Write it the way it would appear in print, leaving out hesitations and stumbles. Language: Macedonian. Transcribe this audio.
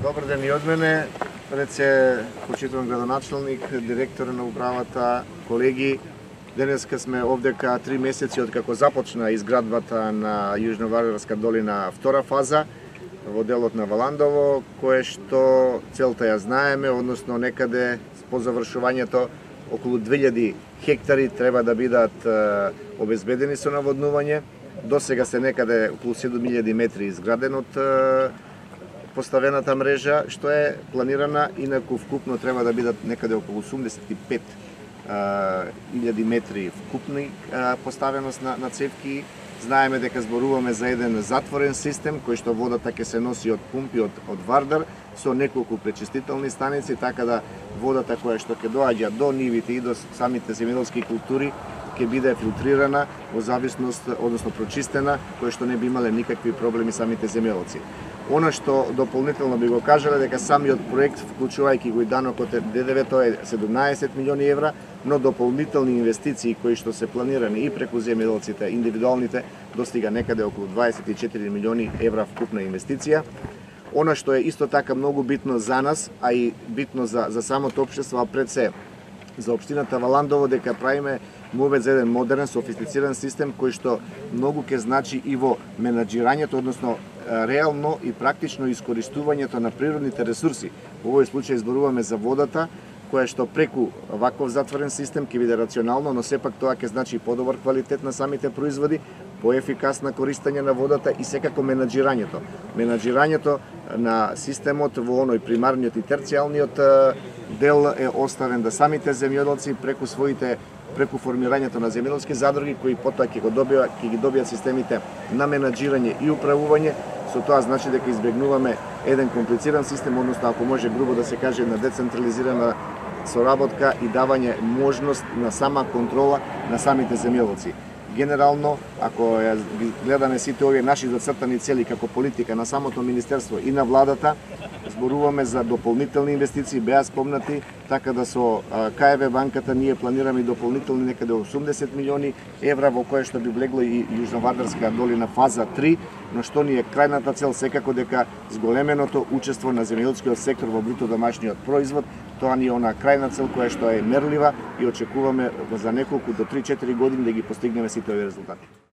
Добар ден и од мене, пред се почитуван градоначалник, директор на управата, колеги. Денеска сме овдека 3 месеци од како започна изградбата на Јужновардарска долина втора фаза во делот на Валандово, кое што целта ја знаеме, односно некаде по завршувањето околу 2000 хектари треба да бидат обезбедени со наводнување. До сега се некаде околу 7000 метри изграден од поставената мрежа, што е планирана, инаку вкупно треба да бидат некаде околу 85.000 метри вкупни поставеност на цевки. Знаеме дека зборуваме за еден затворен систем, кој што водата ќе се носи од пумпи од Вардар, со неколку пречистителни станици, така да водата која што ќе доаѓа до нивите и до самите земјоделски култури ќе биде филтрирана во зависност, односно прочистена, кој што не би имале никакви проблеми самите земјоделци. Она што дополнително би го кажале дека самиот проект, вклучувајќи го и данокот ДДВ, тоа е 17 милиони евра, но дополнителни инвестиции кои што се планирани и преку земјоделците, индивидуалните, достига некаде околу 24 милиони евра вкупна инвестиција. Она што е исто така многу битно за нас, а и битно за самото општество, а пред се за општината Валандово, дека правиме мовет за еден модерен, софистициран систем кој што многу ќе значи и во менаџирањето, односно реално и практично искористувањето на природните ресурси. Во овој случај зборуваме за водата, која што преку ваков затворен систем ќе биде рационално, но сепак тоа ќе значи подобар квалитет на самите производи, поефикасно користење на водата и секако менаџирањето. Менаџирањето на системот во оној примарниот и терцијалниот дел е оставен да самите земјоделци преку формирањето на земјоделски задруги кои потоа ќе ги добијат системите на менаџирање и управување. Со тоа значи дека избегнуваме еден комплициран систем, односно ако може грубо да се каже една децентрализирана соработка и давање можност на сама контрола на самите земјоделци. Генерално, ако гледаме сите овие наши зацртани цели како политика на самото министерство и на владата, зборуваме за дополнителни инвестиции, беа спомнати, така да со КФВ банката ние планираме дополнителни некаде 80 милиони евра, во кое што би влегло и Јужновардарска долина фаза 3, но што ни е крајната цел секако дека зголеменото учество на земјоделскиот сектор во бруто домашниот производ, тоа ни е она крајна цел која што е мерлива и очекуваме за неколку до 3-4 години да ги постигнеме сите овие резултати.